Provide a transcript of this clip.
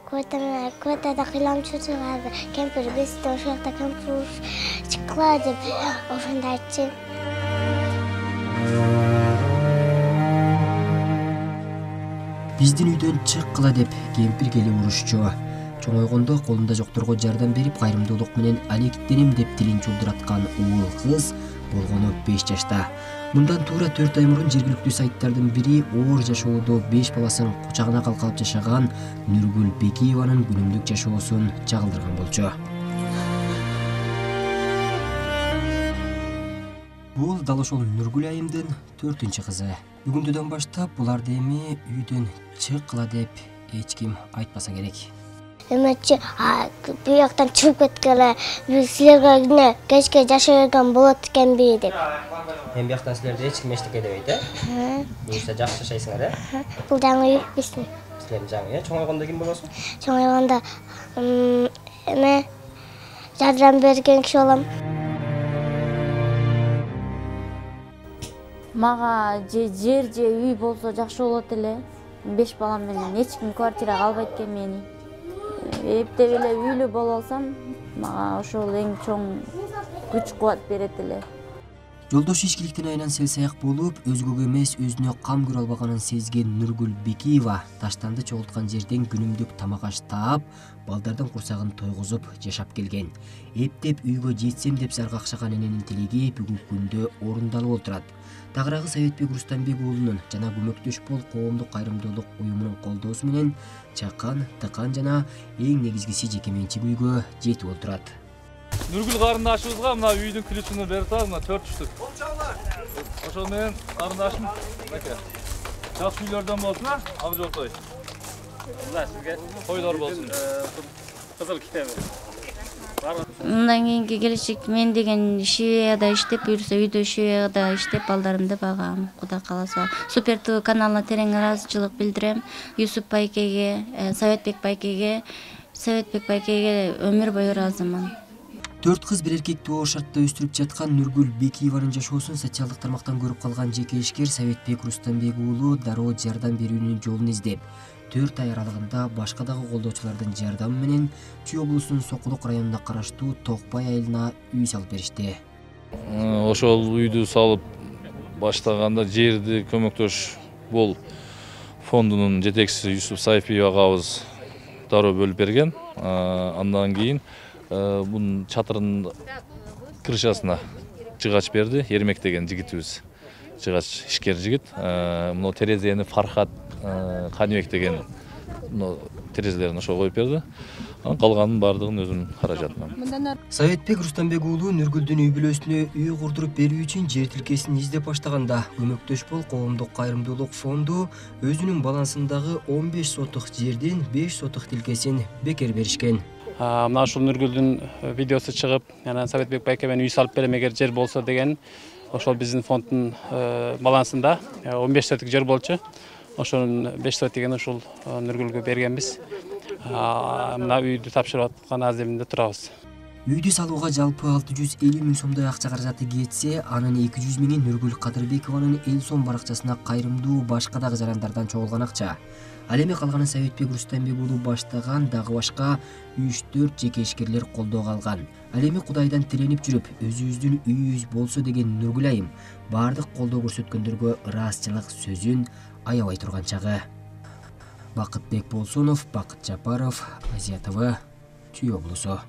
Квартада кыйламчу чыгады. Кемпир бизде ошол жакта кемпир чыккыла деп ошондо айтчу. Биздин үйдөн чыккыла деп кемпир келип урушчу. Чоңойгондо колунда жокторго жардам берип, кайрымдуулук менен алектенем деп тилин чулдураткан уул кыз болгону 5 жашта. Мындан туура 4 ай мурун жергиликтүү сайттардын бири оор жашоодо 5 баласын кучагына калкалап жашаган Нургүл Бекиеванын күнүмдүк жашоосун чагылдырган болчу. Бул дал ошол Нургүл айымдын 4-кызы. Бүгүндөн баштап буларды эми үйдөн чыккыла деп эч ким айтпаса керек. Эметчи бияктан чыгып кеткеле, силерге кечке жашаган болот экенби деп. Эми бияктан силерде эч ким эчтеке дебейт, э? Буюрса жакшы жашайсыңар, э? Бул жаңы үй биздин. Силердин жаңы, э? Чоңойгондо ким болосуң? Чоңойгондо жардам берген киши болом. Мага жер же үй болсо жакшы болот эле. 5 балам менен эч ким квартирага албайт экен мени. Эптеп эле үйлүү боло алсам, мага ошол эң чоң күч-кубат берет эле. Жолдошу ичкиликтин айынан сел-саяк болуп, өзгөгө эмес өзүнө кам көрө албаганын сезген Нургүл Бекиева таштанды чогулткан жерден күнүмдүк тамак аш таап, балдардын курсагын тойгузуп жашап келген. Эптеп үйгө жетсем деп зар какшаган эненин тилеги бүгүнкү күндө орундалып отурат. Тагыраагы Советбек Рустамбек уулунун жана Көмөктөш бол коомдук кайрымдуулук уюмунун колдоосу менен чакан, тыкан жана эң негизгиси жеке менчик үйгө жетип отурат. Нургүл карындашыбызга мына үйдүн ключун берип атабыз, мына 4 түштүк. Ошол менен карындашым аке. Жакшы үйлөрдөн болсун, ак жолтой. Мына сизге тойлор болсун. Кызыл китеби. Мындан кийинки келечек мен деген Швецияда иштеп, буюрса үйдө Швецияда иштеп балдарымды багам, Кудай кааласа. Супер ТВ каналына терең ыраазычылык билдирем. Юсуп байкеге, Советбек байкеге өмүр бою ыраазымын. 4 кыз бир эркекти оор шартта өстүрүп жаткан Нургүл Бекиеванын жашоосун социалдык тармактан көрүп калган жеке ишкер Советбек Рустамбек уулу дароо жардам берүүнүн жолун издеп, 4 ай аралыгында башка дагы колдоочулардын жардамы менен Чүй облусунун Сокулук районуна караштуу Токпай айылына үй салып беришти. Ошол үйдү салып баштаганда жерди Көмөктөш бол фондунун жетекчиси Юсуп Сайфиев агабыз дароо бөлүп берген. Андан кийин бунун чатырынын крышасына жыгач берди. Эрмек деген жигитибиз. Жыгач ишкер жигит. Мына терезени Фархат Каныбек деген терезелерин ошо коюп берди. Калганын баардыгын өзүнүн каражатынан. Советбек Рустамбек уулу Нургүлдүн үй бүлөсүнө үй курдуруп берүү үчүн жер тилкесин издеп баштаганда Көмөктөш бол коомдук кайрымдуулук фонду өзүнүн балансындагы 15 сотук жердин 5 сотук тилкесин бекер беришкен. Мына ушул Нургүлдүн видеосу чыгып, жана Советбек байке мен үй салып берем эгер жер болсо деген, ошол биздин фонддун балансында 15 сотук жер болчу. Ошонун 5 сотугун ушул Нургүлгө бергенбиз. Мына үйдү тапшырып аткан аземинде турабыз. Үйдү салууга жалпы 650 миң сомдой акча каражаты кетсе, анын 200 миңи Нургүл Кадырбекованын эл сом баракчасына кайрымдуу башка дагы жарандардан чогулган акча. Ал эми калганын Советбек Рустамбек уулу баштаган дагы башка 3-4 жеке ишкерлер колдоого алган. Ал эми Кудайдан тиленип жүрүп, өзүбүздүн үйүбүз болсо деген Нургүл айым баардык колдоо көрсөткөндөргө ыраазычылык сөзүн аябай турган чагы. Бакытбек Болсонов, Бакыт Жапаров, Азия ТВ, Чүй облусу.